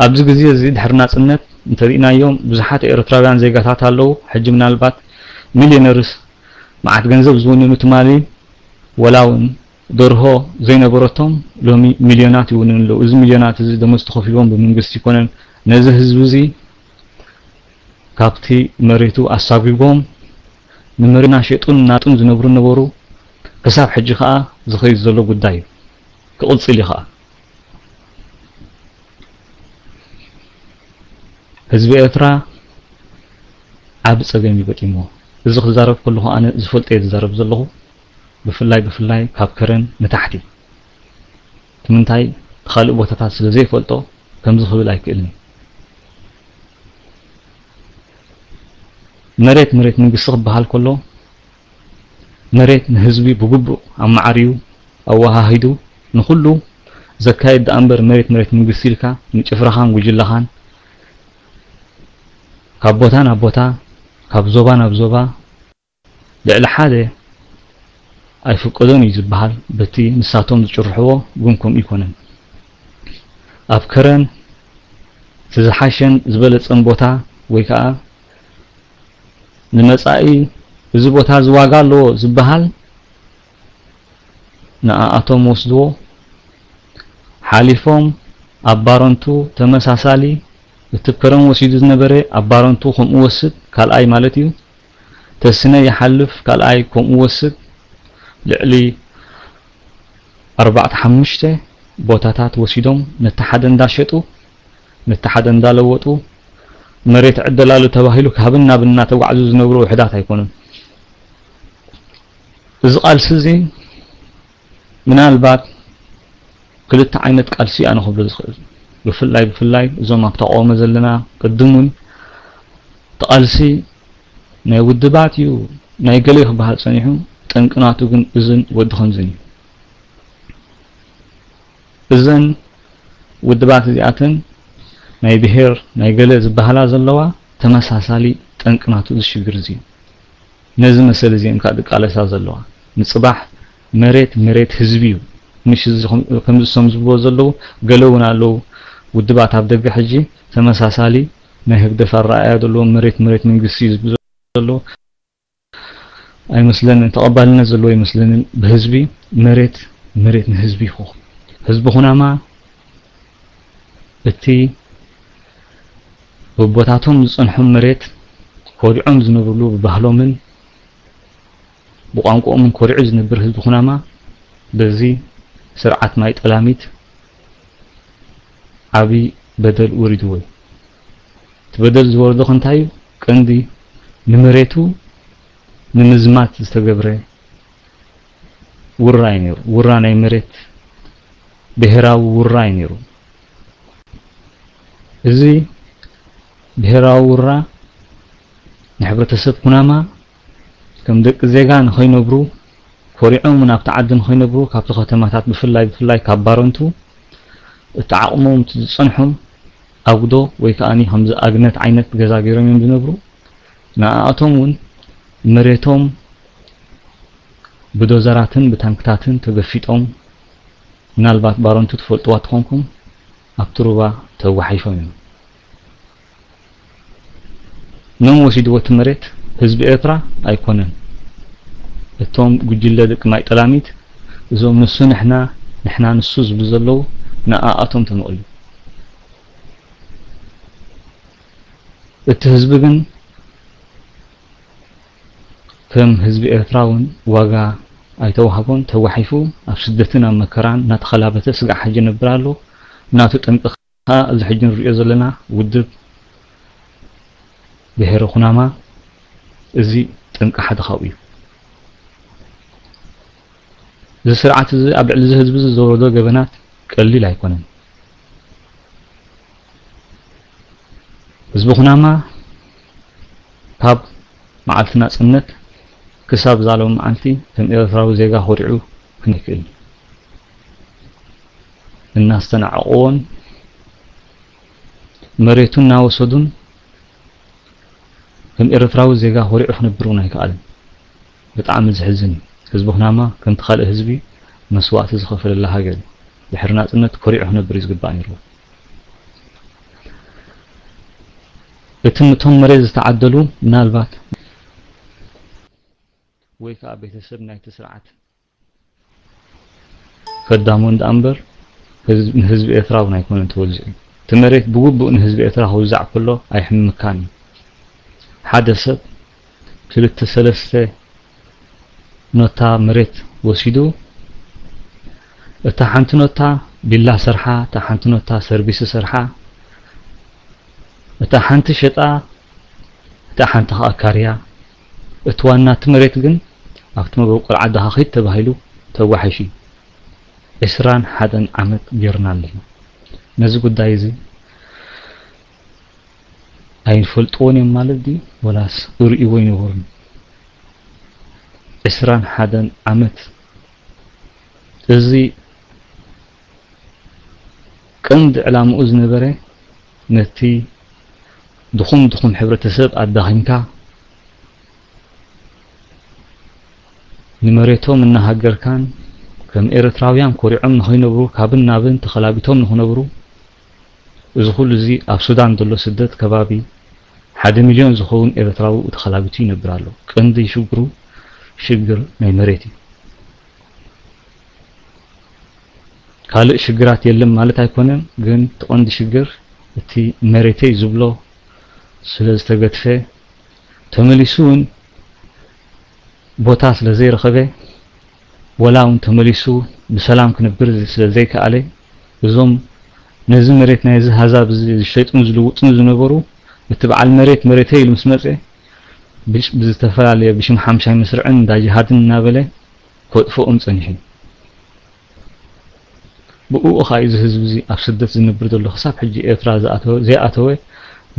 ኣብዚ ግዜ እዚ ድሕሪ ናጽነት እንተሪእናዮም ብዙሓት ኤርትራውያን ዜጋታት ኣለዉ። ሕጂ ምናልባት ሚልዮነርስ መዓት ገንዘብ ዝውንኑ ትማሊ ወላ እውን ደርሆ ዘይነበረቶም ሎሚ ሚልዮናት ይውንኑ ኣለዉ። እዚ ሚልዮናት እዚ ደሞዝ ተኸፊልዎም ብመንግስቲ ይኮነን። ነዚ ህዝቢ እዚ ካብቲ መሬቱ ኣሳጒጎም ንመሬትና ሸጡን ናጡን ዝነብሩ ነበሩ። ክሳብ ሕጂ ከኣ ዝኸይድ ዘሎ ጉዳይ እዩ። ክቕጽል እዩ ከኣ። ህዝቢ ኤርትራ ዓቢ ጸገም እዩ ገጢምዎ። እዚ ክዛረብ ከለኹ ኣነ ዝፈልጦ እየ ዝዛረብ ዘለኹ። ብፍላይ ብፍላይ ካብ ከረን ንታሕቲ። እቲ ምንታይ ካልእ ቦታታት ስለ ዘይፈልጦ ከምዚ ክብል ኣይክእልን። መሬት መሬት መንግስቲ ክበሃል ከሎ መሬት ንህዝቢ ብግቡእ ኣመዓርዩ ኣወሃሂዱ ንኹሉ ዘካይድ ደኣ እምበር መሬት መሬት መንግስቲ ኢልካ ንጭፍራኻን ጉጅላኻን ካብ ቦታ ናብ ቦታ ካብ ዞባ ናብ ዞባ ልዕሊ ሓደ ኣይፍቀዶን እዩ ዝበሃል በቲ ንሳቶም ዝጭርሕዎ ግን ከምኡ ይኮነን። ኣብ ከረን እቲ ዝሓሸን ዝበለጸን ቦታ ወይ ከዓ ንመጻኢ እዚ ቦታ እዚ ዋጋ ኣለዎ ዝበሃል ንኣኣቶም ወስድዎ ሓሊፎም ኣብ ባረንቱ ተመሳሳሊ እቲ ከረን ወሲዱ ዝነበረ ኣብ ባረንቱ ከምኡ ወስድ ካልኣይ ማለት እዩ። ተስነ ይሓልፍ ካልኣይ ከምኡ ወስድ ልዕሊ ኣርባዕተ ሓሙሽተ ቦታታት ወሲዶም ነቲ ሓደ እንዳሸጡ ነቲ ሓደ እንዳለወጡ መሬት ዕደላሉ ተባሂሉ ካብን ናብን እናተጓዕዙ ዝነብሩ ውሕዳት ኣይኮኑን። እዚ ቃልሲ እዚ ምናልባት ክልተ ዓይነት ቃልሲ ኣነ ክብሎ ዝኽእል ብፍላይ ብፍላይ እዞም ኣብ ተቃውሞ ዘለና ቅድም እውን እቲ ቃልሲ ናይ ውድባት እዩ ናይ ገለ ክበሃል ጸኒሑ ጠንቅናቱ ግን እዝን ወዲ ከምዝን እዩ። እዘን ውድባት እዚኣተን ናይ ብሄር ናይ ገለ ዝበሃላ ዘለዋ ተመሳሳሊ ጠንቅናቱ እዚ ሽግር እዚ እዩ። ነዚ መሰል እዚ እየን ከዓ ዝቃለሳ ዘለዋ። ንፅባሕ መሬት መሬት ህዝቢ እዩ። ምሽ እዚ ከም- ከምዚ እሶም ዝብልዎ ዘለዉ ገለ እውን ኣለዉ ውድባት ኣብ ደገ ሕጂ ተመሳሳሊ ናይ ህግደፍ ኣረኣእያ ዘለዎም መሬት መሬት መንግስቲ እዩ ዝብሉ ዘለዉ ኣይመስለንን፣ ተቐባልነት ዘለዎ ኣይመስለንን። ብህዝቢ መሬት መሬት ንህዝቢ ይኹ ህዝቢ ኩናማ እቲ ብቦታቶም ዝጸንሖም መሬት ኮሪዖም ዝነብርሉ ብባህሎምን ብቋንቋኦምን ኮሪዑ ዝነብር ህዝቢ ኩናማ በዚ ስርዓት ማይ ጠላሚት ዓቢ በደል ወሪድዎ እዩ። እቲ በደል ዝወረዶ ከ እንታይ እዩ? ቀንዲ ንመሬቱ ንምዝማት ዝተገብረ ውራ እዩ ነይሩ። ውራ ናይ መሬት ብሄራዊ ውራ እዩ ነይሩ። እዚ ብሄራዊ ውራ ንሕብረተሰብ ኩናማ ከም ደቂ ዜጋ ንኸይነብሩ ኮሪዖም እውን ኣብቲ ዓዲ ንኸይነብሩ ካብቲ ከተማታት ብፍላይ ብፍላይ ካብ ባረንቱ እቲ ዓቕሞም እቲ ዝጸንሖም ኣጉዶ ወይ ከኣ ከምዚ ኣግነት ዓይነት ገዛ ገይሮም እዮም ዝነብሩ። ንኣኣቶም እውን መሬቶም ብዶዘራትን ብታንክታትን ተገፊጦም ምናልባት ባረንቱ ትፈልጥዋ ተኾንኩም ኣብቲ ሩባ ተጓሒፎም እዮም። መን ወሲድዎ እቲ መሬት? ህዝቢ ኤርትራ ኣይኮነን። እቶም ጉጅለ ደቂ ማይ ጠላሚት እዞም ንሱ ንሕና ንሕና ንሱ ዝብሉ ዘለዉ ንኣኣቶም ተመቕሉ። እቲ ህዝቢ ግን ከም ህዝቢ ኤርትራ እውን ዋጋ ኣይተዋህቦን፣ ተጓሒፉ ኣብ ስደትን ኣብ መከራን እናተኸላበተ ስጋዕ ሕጂ ይነብር ኣሎ። ናቱ ጠንቂ ከኣ እዚ ሕጂ ንሪኦ ዘለና ውድብ ብሄረ ኩናማ እዚ ጠንቂ ሓደ ካብኡ እዩ። እዚ ስርዓት እዚ ኣብ ልዕሊ እዚ ህዝቢ እዚ ዘውረዶ ገበናት ቀሊል ኣይኮነን። ህዝቢ ኩናማ ካብ መዓልቲ ናጽነት ክሳብ ዛሎም መዓልቲ ከም ኤርትራዊ ዜጋ ኮሪዑ ክነክእል እናስተናዕቕዎን መሬቱ እናወሰዱን ከም ኤርትራዊ ዜጋ ኮሪዑ ክነብር እውን ኣይከኣልን። ብጣዕሚ ዝሕዝን እዩ። ህዝቢ ኩናማ ከምቲ ካልእ ህዝቢ መስዋእቲ ዝኸፈለላ ሃገር እዩ። ድሕሪ ናጽነት ኮሪዑ ክነብር እዩ ዝግባእ ነይርዎ። ትምቶም መሬት ዝተዓደሉ ምናልባት ወይ ከዓ ቤተሰብ ናይቲ ስርዓት ከዳሞን ደኣ እምበር ህዝብ- ንህዝቢ ኤርትራ እውን ኣይኮነን ተወዚዑ። እቲ መሬት ብግቡእ ንህዝቢ ኤርትራ ክውዛዕ ከሎ ኣይሕምካን እዩ። ሓደ ሰብ ክልተ ሰለስተ ኖታ መሬት ወሲዱ፣ እታ ሓንቲ ኖታ ቢላ ሰርሓ፣ እታ ሓንቲ ኖታ ሰርቪስ ሰርሓ፣ እታ ሓንቲ ሸጣ፣ እታ ሓንቲ ከኣ ካርያ። እቲ ዋና እቲ መሬት ግን ኣብቲ መበቆል ዓድኻ ኺድ ተባሂሉ ተዋሒሹ። ዕስራን ሓደን ዓመት ጌርና ኣለና። ነዚ ጉዳይ እዚ ኣይፈልጥዎን እዮም ማለት ድዩ? ወላስ እርእይዎ ይነበሩን? ዕስራን ሓደን ዓመት እዚ ቀንዲ ዕላምኡ ዝነበረ ነቲ ድኹም ድኹም ሕብረተሰብ ኣዳኺምካ ንመሬቶም እናሃገርካን ከም ኤርትራውያን ኮሪዖም ንኸይነብሩ ካብን ናብን ተኸላቢቶም ንኽነብሩ እዚ ኩሉ እዚ ኣብ ሱዳን ዘሎ ስደት ከባቢ ሓደ ሚልዮን ዝኸውን ኤርትራዊ ተኸላቢቱ ይነብር ኣሎ። ቀንዲ ሽግሩ ሽግር ናይ መሬት እዩ። ካልእ ሽግራት የለን ማለት ኣይኮነን፣ ግን እቲ ቀንዲ ሽግር እቲ መሬተይ ዝብሎ ስለ ዝተገድፈ ተመሊሱ እውን ቦታ ስለ ዘይረኸበ ወላ እውን ተመሊሱ ብሰላም ክነብር ስለ ዘይከኣለ እዞም ነዚ መሬት ናይዚ ሃዛብ እዚ ዝሸጡን ዝልውጡን ዝነበሩ እቲ በዓል መሬት መሬተይ ኢሉ ምስ መፀ ብሽ- ብዝተፈላለየ ብሽም ሓምሻይ መስርዕን እንዳ ጅሃድን እናበለ ከጥፍኦም ጸኒሑ። ብኡ ኸኣ እዚ ህዝቢ እዚ ኣብ ስደት ዝነብር ዘሎ ክሳብ ሕጂ ኤርትራ ዝኣተወ ዘይኣተወ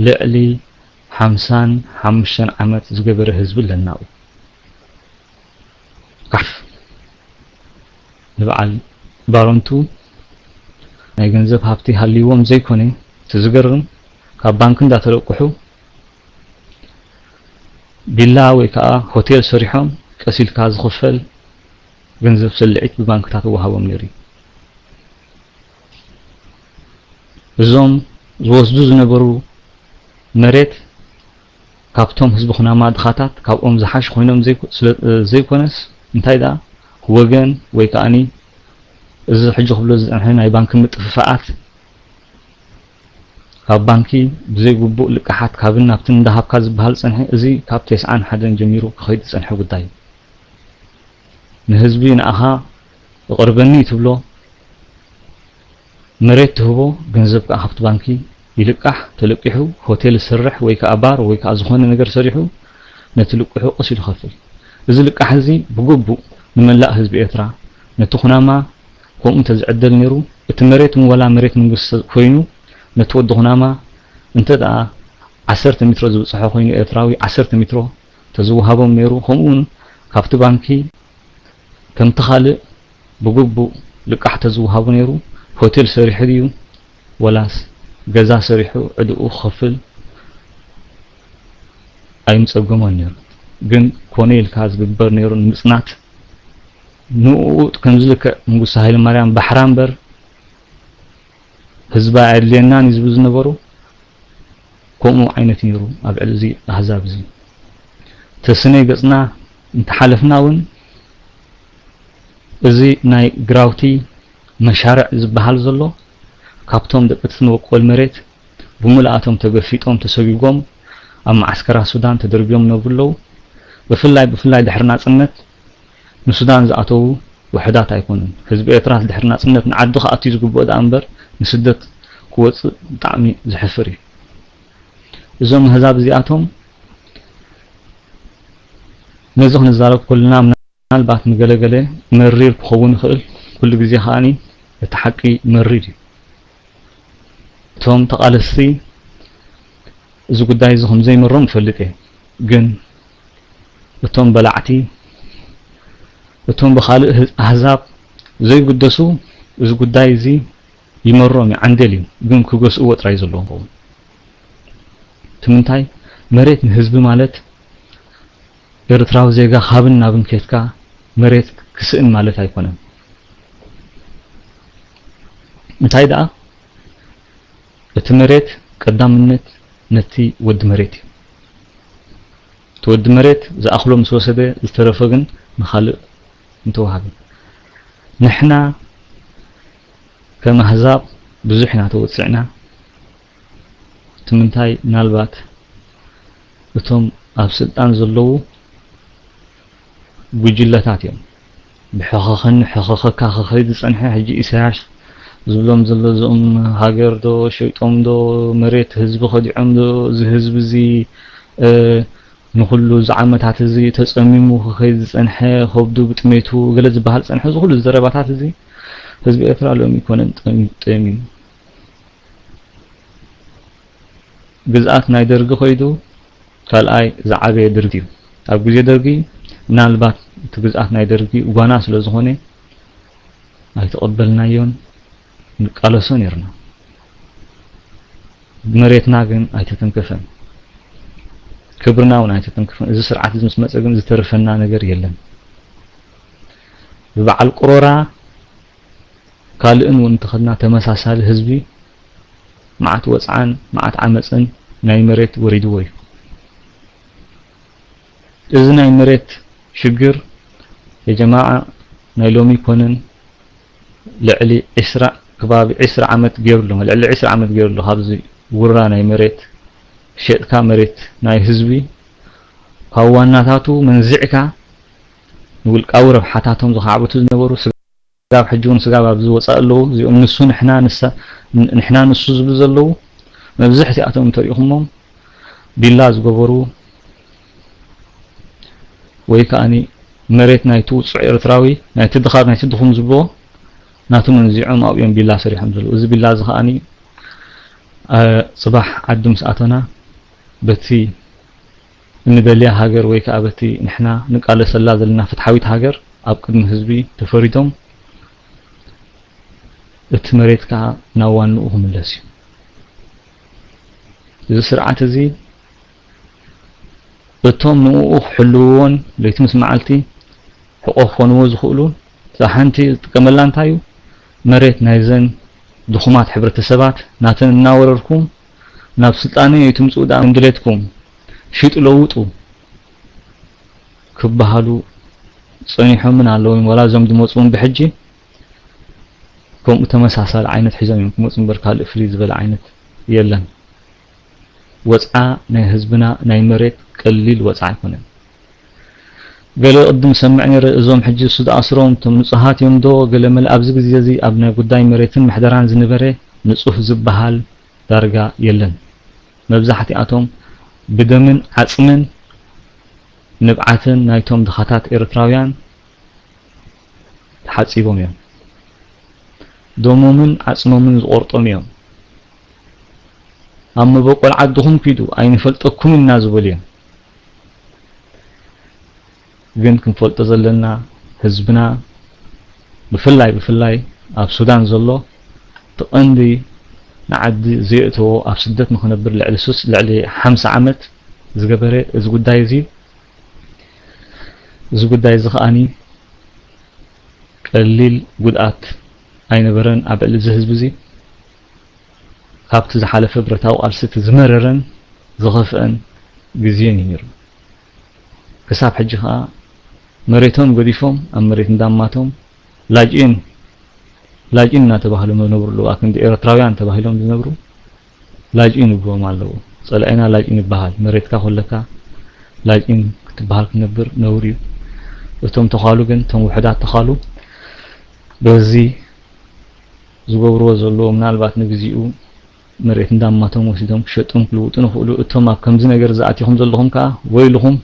ልዕሊ ሓምሳን ሓሙሽተን ዓመት ዝገበረ ህዝቢ ኣለና ኣብኡ። ካፍ ንበዓል ባሮንቱ ናይ ገንዘብ ሃብቲ ሃልይዎም ዘይኮነ እቲ ዝገርም ካብ ባንክ እንዳተለቅሑ ቪላ ወይ ከዓ ሆቴል ሰሪሖም ቀስ ኢልካ ዝኽፈል ገንዘብ ሰልዒት ብባንክታት ይወሃቦም ነይሩ እዩ። እዞም ዝወስዱ ዝነበሩ መሬት ካብቶም ህዝቢ ኩናማ ድኻታት ካብኦም ዝሓሽ ኮይኖም ዘይኮ- ስለ- ዘይኮነስ እንታይ ደኣ ወገን ወይ ከኣኒ እዚ ሕጂ ክብሎ ዝጸንሐ ናይ ባንኪ ምጥፍፋኣት ካብ ባንኪ ብዘይግቡእ ልቃሓት ካብን ናብትን እንዳሃብካ ዝበሃል ዝጸንሐ እዚ ካብ ተስዓን ሓደን ጀሚሩ ክኸይድ ዝጸንሐ ጉዳይ እዩ። ንህዝቢ ንኣኻ እቕርበኒ ትብሎ መሬት ትህቦ፣ ገንዘብ ከኣ ካብቲ ባንኪ ይልቃሕ፣ ተለቂሑ ሆቴል ዝሰርሕ ወይ ከኣ ባር ወይ ከኣ ዝኾነ ነገር ሰሪሑ ነቲ ልቅሑ ቀስ ኢሉ ይኸፍል። እዚ ልቃሕ እዚ ብግቡእ ንመላእ ህዝቢ ኤርትራ ነቲ ኩናማ ከምኡ እንተዝዕደል ነይሩ እቲ መሬት እውን ዋላ መሬት መንግስቲ ኮይኑ ነቲ ወዲ ኩናማ እንተ ደኣ ዓሰርተ ሜትሮ ዝብጽሖ ኮይኑ ኤርትራዊ ዓሰርተ ሜትሮ ተዝወሃቦም ነይሩ ከምኡ እውን ካብቲ ባንኪ ከምቲ ካልእ ብግቡእ ልቃሕ ተዝወሃቦ ነይሩ ሆቴል ሰሪሑ ድዩ ወላስ ገዛ ሰሪሑ ዕድኡ ክኸፍል ኣይምጸገሞን ነይሩ። ግን ኮነ ኢልካ ዝግበር ነይሩ ንምጽናት ንኡ ከምዚ ልክዕ መንግስቱ ሃይለማርያም ባሕራ እምበር ህዝባ ኣየድልየናን እዩ ዝብሉ ዝነበሩ ከምኡ ዓይነት ነይሩ ኣብ ዕሊ እዚ ኣህዛብ እዚ ተስነይ ገጽና እንተሓለፍና እውን እዚ ናይ ግራውቲ መሻርዕ ዝበሃል ዘሎ ካብቶም ደቂ እቲ መበቆል መሬት ብምልኣቶም ተገፊጦም ተሰጉጎም ኣብ መዓስከራት ሱዳን ተደርብዮም ይነብሩ ኣለዉ። ብፍላይ ብፍላይ ድሕሪ ናጽነት ንሱዳን ዝኣተዉ ውሑዳት ኣይኮኑን። ህዝቢ ኤርትራ ድሕሪ ናጽነት ንዓዱ ክኣቱ እዩ ዝግብኦ ደኣ እምበር ንስደት ክወጽእ ብጣዕሚ ዘሕፍር እዩ። እዞም ኣህዛብ እዚኣቶም ነዚ ክንዛረብ ከለና ምናልባት ንገለገለ መሪር ክኸውን ይኽእል፣ ኩሉ ግዜ ከኣ እቲ ሓቂ መሪር እዩ። እቶም ተቓለስቲ እዚ ጉዳይ እዚ ከም ዘይመሮም እፈልጥ እየ፣ ግን እቶም በላዕቲ እቶም ብኻልእ ኣህዛብ ዘይግደሱ እዚ ጉዳይ እዚ ይመሮም እዩ፣ ዓንዴል እዩ፣ ግን ክገስእዎ ጥራይ ዘለዎም ይኸውን። እቲ ምንታይ መሬት ንህዝቢ ማለት ኤርትራዊ ዜጋ ካብን ናብን ኬድካ መሬት ክስእን ማለት ኣይኮነን። እንታይ ደኣ እቲ መሬት ቀዳምነት ነቲ ወዲ መሬት እዩ። እቲ ወዲ መሬት ዝኣኽሎ ምስ ወሰደ፣ ዝተረፈ ግን ንኻልእ እንተወሃበ። ንሕና ከም ኣህዛብ ብዙሕ ኢና ተወጺዕና። እቲ ምንታይ፣ ምናልባት እቶም ኣብ ስልጣን ዘለዉ ጉጅለታት እዮም። ብሕኸኸኒ ሕኸኸካ ክኸይድ ዝጸንሐ፣ ሕጂ ኢሳያስ ዝብሎም ዘሎ፣ እዞም ሃገር ዶ ሸይጦም ዶ፣ መሬት ህዝቢ ከዲዖም ዶ፣ እዚ ህዝቢ እዚ፣ እ፣ ንኹሉ እዚ ዓመታት እዚ ተጸሚሙ ክኸይድ ዝጸንሐ፣ ከብዱ ብጥሜቱ ገለ ዝበሃል ዝጸንሐ፣ እዚ ኩሉ ዘረባታት እዚ ህዝቢ ኤርትራ ሎሚ ኣይኮነን ጠሚ-፣ ጠሚሙ። ግዝኣት ናይ ደርጊ ከይዱ ካልኣይ ዝዓበየ ድርጊት እዩ። ኣብ ግዜ ደርጊ ምናልባት እቲ ግዝኣት ናይ ደርጊ ጓና ስለ ዝኾነ ኣይተቐበልናዮን፣ ንቃለሶ ነይርና። መሬትና ግን ኣይተተንከፈን፣ ክብርና እውን ኣይተተንከፈን። እዚ ስርዓት እዚ ምስ መጸ ግን ዝተረፈና ነገር የለን። ብበዓል ቅሮራ ካልእን እውን እንተኸድና፣ ተመሳሳሊ ህዝቢ መዓት ወጽዓን መዓት ዓመጽን ናይ መሬት ወሪድዎ እዩ። እዚ ናይ መሬት ሽግር የጀማዓ ናይ ሎሚ ኣይኮነን፣ ልዕሊ ዒስራ፣ ከባቢ ዒስራ ዓመት ገይሩ ኣሎ፣ ልዕሊ ዒስራ ዓመት ገይሩ ኣሎ። ካብዚ ውራ ናይ መሬት፣ ሸጥካ መሬት ናይ ህዝቢ ካብ ዋናታቱ መንዚዕካ ንውልቃዊ ረብሓታቶም ዝኻዕብቱ ዝነበሩ ስጋብ ሕጂ እውን ስጋብ ኣብዚ ወጻኢ ኣለዉ። እዚኦም ንሱ ንሕና ንሳ፣ ንሕና ንሱ ዝብሉ ዘለዉ መብዛሕትኣቶም እንተሪኢኹሞም ቢላ ዝገበሩ ወይ ከኣኒ መሬት ናይቲ ውጹዕ ኤርትራዊ፣ ናይቲ ድኻ፣ ናይቲ ድኹም ዝብልዎ ናቱ መንዚዖም ኣብኡ እዮም ቢላ ሰሪሖም ዘለዉ። እዚ ቢላ እዚ ከኣኒ፣ እ፣ ጽባሕ ዓዲ ምስ ኣተና በቲ እንደልያ ሃገር ወይ ከኣ በቲ ንሕና ንቃለሰላ ዘለና ፍትሓዊት ሃገር ኣብ ቅድሚ ህዝቢ ተፈሪዶም እቲ መሬት ከኣ ናብ ዋንኡ ክምለስ እዩ። እዚ ስርዓት እዚ እቶም ንኡ ክሕልውዎን ለይቲ ምስ መዓልቲ ሕቆ ክኾንዎ ዝኽእሉ፣ እዛ ሓንቲ ዝጥቀመላ እንታይ እዩ? መሬት ናይዘን ድኹማት ሕብረተሰባት ናተን እናወረርኩም ናብ ስልጣነ ኣይትምጽኡ ደኣ፣ እንድሌትኩም ሽጡ ለውጡ ክበሃሉ ጸኒሖምን ኣለውን። ዋላ እዞም ዝመጽኡ እውን ብሕጂ ከምኡ ተመሳሳሊ ዓይነት ሒዞም እዮም ክመጹ እምበር ካልእ ፍልይ ዝበለ ዓይነት የለን። ወጽዓ ናይ ህዝብና ናይ መሬት ቀሊል ወጽዓ ኣይኮነን። ገለ ቅድም ሰምዕ ነይረ፣ እዞም ሕጂ እሱ ዝኣስሮም እቶም ንጹሃት እዮም ዶ ገለ መለ። ኣብዚ ግዜ እዚ ኣብ ናይ ጉዳይ መሬትን ምሕደራን ዝነበረ ንጹህ ዝበሃል ዳርጋ የለን። መብዛሕትኣቶም ብደምን ዓጽምን ንብዓትን ናይቶም ድኻታት ኤርትራውያን ተሓጺቦም እዮም። ደሞምን ዓጽሞምን ዝቖርጦም እዮም። ኣብ መበቆል ዓድኹም ኪዱ፣ ኣይንፈልጠኩምን ኢና ዝበሉ እዮም። ግን ክንፈልጦ ዘለና፣ ህዝብና ብፍላይ፣ ብፍላይ ኣብ ሱዳን ዘሎ፣ እቲ ቀንዲ ንዓዲ ዘየእተዎ፣ ኣብ ስደት ንኽነብር ልዕሊ ሱስ፣ ልዕሊ ሓምሳ ዓመት ዝገበረ እዚ ጉዳይ እዚ፣ እዚ ጉዳይ እዚ ከኣኒ ቀሊል ጉድኣት ኣይነበረን ኣብ ልዕሊ እዚ ህዝቢ እዚ። ካብቲ ዝሓለፈ ብረታዊ ቃልሲ እቲ ዝመረረን ዝኸፍአን ግዜን እዩ ነይሩ። ክሳብ ሕጂ ከኣ መሬቶም ገዲፎም ኣብ መሬት እንዳማቶም ላጅኢን፣ ላጅኢን እናተባህሉ ዝነብሩ ኣለዉ። ኣክንዲ ኤርትራውያን ተባሂሎም ዝነብሩ ላጅኢን ይብልዎም ኣለዉ። ጸላኢና ላጅኢን ይበሃል። መሬትካ ኮለካ ላጅኢን ክትበሃል ክትነብር ነውሪ እዩ። እቶም ተዃሉ ግን፣ እቶም ውሑዳት ተዃሉ በዚ ዝገብርዎ ዘለዉ፣ ምናልባት ንግዚኡ መሬት እንዳማቶም ወሲዶም ክሸጡን ክልውጡን ይኽእሉ። እቶም ኣብ ከምዚ ነገር ዝኣቲኹም ዘለኹም ከኣ ወይልኹም፣